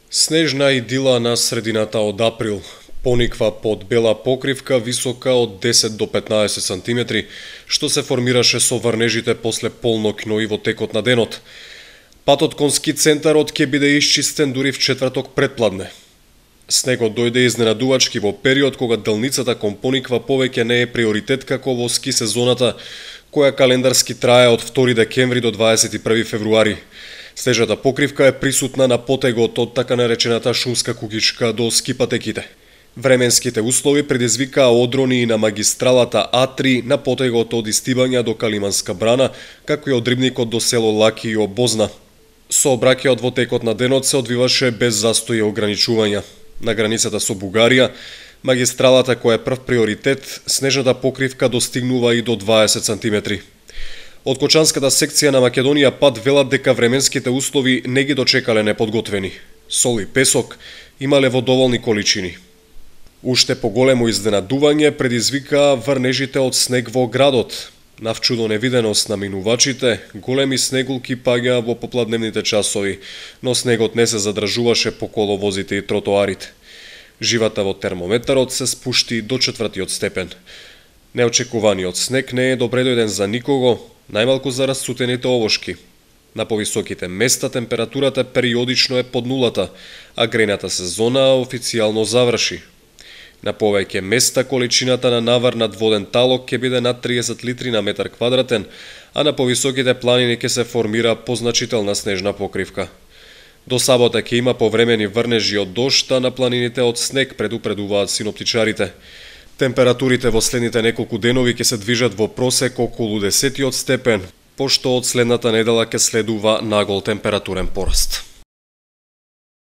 Снежна идила на средината од април. Пониква под бела покривка висока од 10 до 15 сантиметри, што се формираше со врнежите после полноќно и во текот на денот. Патот кон ски центарот ќе биде исчистен дури в четврток предпладне. Снегот дојде изненадувачки во период кога делницата кон Пониква повеќе не е приоритет како во ски сезоната, која календарски трае од 2 декември до 21 февруари. Снежната покривка е присутна на потегот од така наречената шумска куќичка до ски патеките. Временските услови предизвикаа одрони и на магистралата А3 на потегот од Истибања до Калиманска брана, како и од Рибникот до село Лаки и Обозна. Сообраќајот во текот на денот се одвиваше без застои и ограничувања. На границата со Бугарија, магистралата која е прв приоритет, снежната покривка достигнува и до 20 сантиметри. Од Кочанската секција на Македонија пат велат дека временските услови не ги дочекале неподготвени. Сол и песок имале во доволни количини. Уште поголемо изненадување предизвикаа врнежите од снег во градот. Навчудо невиденост на минувачите, големи снегулки паѓаа во попладневните часови, но снегот не се задржуваше по коловозите и тротоарите. Живата во термометарот се спушти до 4 степен. Неочекуваниот снег не е добредојден за никого, најмалку за расцутените овошки. На повисоките места температурата периодично е под нулата, а грејната сезона официјално заврши. На повеќе места количината на навар над воден талок ќе биде над 30 литри на метар квадратен, а на повисоките планини ќе се формира позначителна снежна покривка. До сабота ќе има повремени врнежи од дожд, а на планините од снег, предупредуваат синоптичарите. Температурите во следните неколку денови ќе се движат во просек околу 10 степен, пошто од следната недела ќе следува нагол температурен пораст.